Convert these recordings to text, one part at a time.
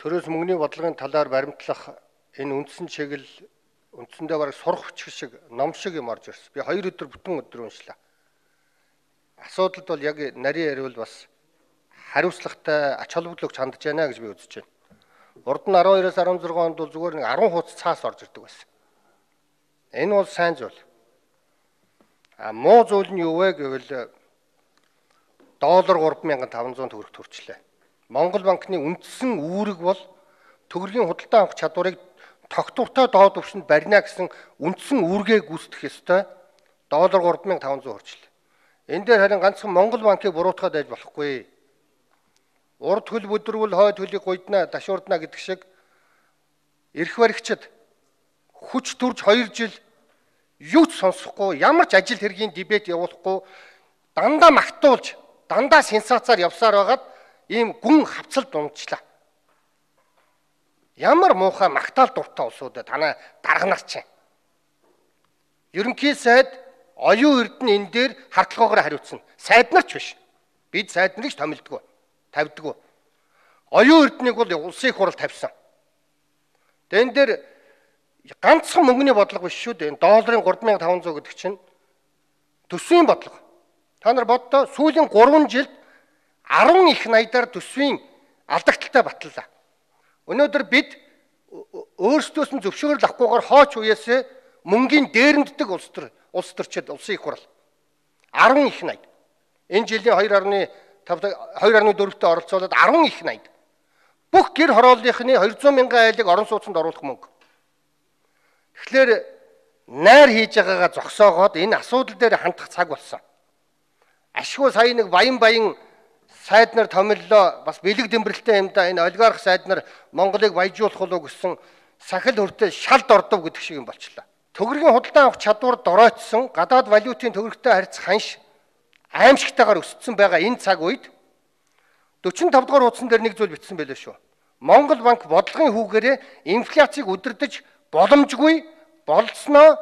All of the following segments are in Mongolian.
төрөөс мөнгөний бодлогын талаар баримтлах энэ үндсэн чиглэл үндсэндээ бараг сурах хүч шиг ном шиг юм орж ирсэн. Би 2 өдөр бүтэн өдөр уншлаа. Асуудалд бол яг нарийн яриул бас хариуцлагатай ач холбогдол өгч хандж байна гэж би үзэж байна. Урд нь 12-аас 16 онд бол зүгээр нэг 10 хуудас цаас орж ирдэг байсан. Энэ бол сайн зүйл. Муу зүйл нь юу вэ гэвэл доллар 3500 төгрөгт хүрчлээ. Монгол банкны үндсэн үүрэг бол төгрөгийн худалдаа авах чадварыг тогтвортой доод түвшинд барина гэсэн үндсэн үүргээ гүйцэтгэх ёстой. Доллар 3500 хүрчлээ. Энэ дээр харин ганцхан Монгол банкыг буруутгаад байж болохгүй. Урд хөл бүдрүүл хойд хөлийг гуйдна, дашуурдна гэдэг шиг эрх баригчид хүч төрж 2 жил юу ч сонсохгүй, ямар ч ажил хэргийн дебет явуулахгүй, дандаа магтуулж, дандаа сенсацаар явсаар байгаад ийм гүн хавцалд унжлаа. Ямар муухай магтаал дуртай улсуудад танаа дарга нар чинь. Ерөнхий сайд оюун эрдэнэ энэ дээр хардлагаараа хариуцна. Сайд нар ч биш. Бид сайд нарыг томилдгоо, тавьдгоо. Оюун эрдэнэийг бол улсын их хурал тавьсан. Тэгээ энэ дээр ганцхан мөнгөний бодлого биш шүү дээ. Долларын 3500 гэдэг чинь төсвийн бодлого. Та нар боддоо сүүлийн 3 жилд 10 их найдаар төсвийн алдагталтай батллаа. Өнөөдөр бид өөрсдөөс нь зөвшөөрөл авахгүйгээр хооч уяасаа мөнгөний дээрэмддэг улс төрчид улсын их хурал 10 их найд. Энэ жилийн 2.4-т оролцоолоод 10 их найд. Бүх гэр хорооллынхны 200 мянган айлыг орон сууцнд оруулах мөнгө. Тэгэхээр найр хийж байгаагаа зогсоогоод энэ асуудал дээр хандах цаг болсон. Ашгүй сая нэг баян сайд нар томиллоо бас бэлэг дэмбэрэлтэй юм да энэ олигарх сайд нар Монголыг баяжуулах болов гэсэн сахил хүртэл шалд ордов гэдэг шиг юм болчлаа. Төгрөгийн худалдаа авах чадвар доройтсон гадаад валютын төгрөгтэй харьцах ханш аимшигтайгаар өссөн байгаа энэ цаг үед 45 дугаар хуудсан дээр нэг зүйл бичсэн байлээ шүү. Монгол банк бодлогын хүүгээрээ инфляцийг удирдах боломжгүй болцсноо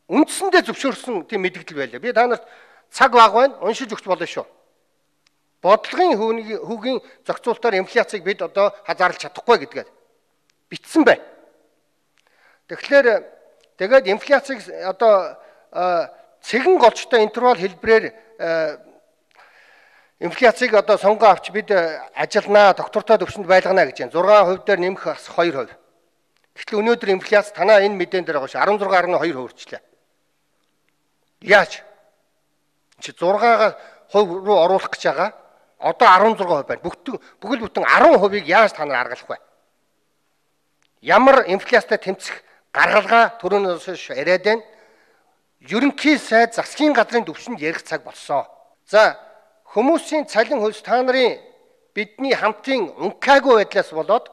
үндсэндээ зөвшөөрсөн тийм мэдээлэл байлаа. Би та нарт цаг баг байна уншиж өгч болно шүү. Бодлогын хүүгийн зохицуултаар инфляцийг бид одоо хазаарлаж чадахгүй гэдгээд бичсэн байна. Тэгээд инфляцийг одоо цэгэн голчтой интервал хэлбэрээр инфляцийг одоо сонгоо авч бид ажилнаа, доктортой төвшөнд байлгана гэж байна. 6% дээр нэмэх бас 2%. Гэтэл өнөөдөр инфляц танаа энэ мэдэн дээр байгаа ш 16.2% хүрчлээ. Яаж? Чи 6% руу оруулах гэж байгаа. Одоо 16% байна. Бүхэл бүтэн 10%-ийг яаж та нар аргалах вэ? Ямар инфляцтай тэмцэх гаргалгаа түрүүнээс яриад байна. Ерөнхий сайд засгийн газрын төвшөнд ярих цаг болсон. За хүмүүсийн цалин хөлс та нарын бидний хамтын ункаагүй байдлаас болоод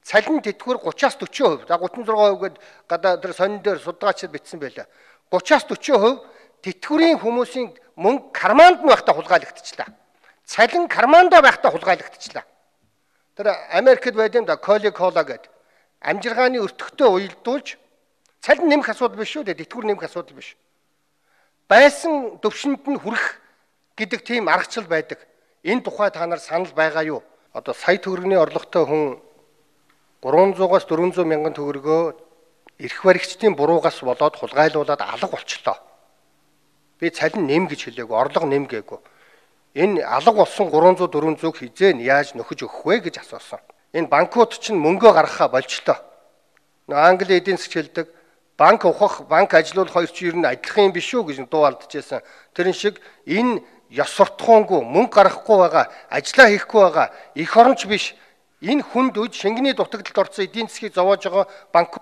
цалин тэтгэвэр 30-аас 40%. За 36% гээд гадаа тэр сонин дээр судалгаачид бичсэн байлаа. 30-аас 40% тэтгэврийн хүмүүсийн мөнгө карманд нь байхдаа хулгайлагдчихлаа. Цалин кармандаа байхдаа хулгайлагдчихлаа. Тэр Америкт байд юм да Кола гэдэг амжиргааны өртөгтэй уялдуулж цалин нэмэх асуудал биш шүү дээ. Тэтгэвэр нэмэх асуудал биш. Байсан төвшөнд нь хүрэх гэдэг тийм аргачлал байдаг. Энэ тухай та нар санал байгаа юу? Одоо сая төгрөгийн орлоготой хүн 300-аас 400 мянган төгрөгөө эрх баригчдын буруугаас болоод хулгайлуулаад алга болчлоо. Би цалин нэм гэж хэлээгүй, орлого нэм гээгүй. Энэ алга болсон 300-400-г хизээ яаж нөхөж өгөх вэ гэж асуусан. Энэ банкуд чинь мөнгөө гаргахаа болчлоо. Англи эдийн засаг хэлдэг банк ухах, банк ажилуулах хоёр чинь ер нь адилхан юм биш үү гэж дуу алдчихсан. Тэрэн шиг энэ ёс суртахуунгүй мөнгө гаргахгүй байгаа, ажиллаа хийхгүй байгаа, эх оронч биш энэ хүнд үд шингэний дутагдлалд орсон эдийн засгийг зовоож байгаа банк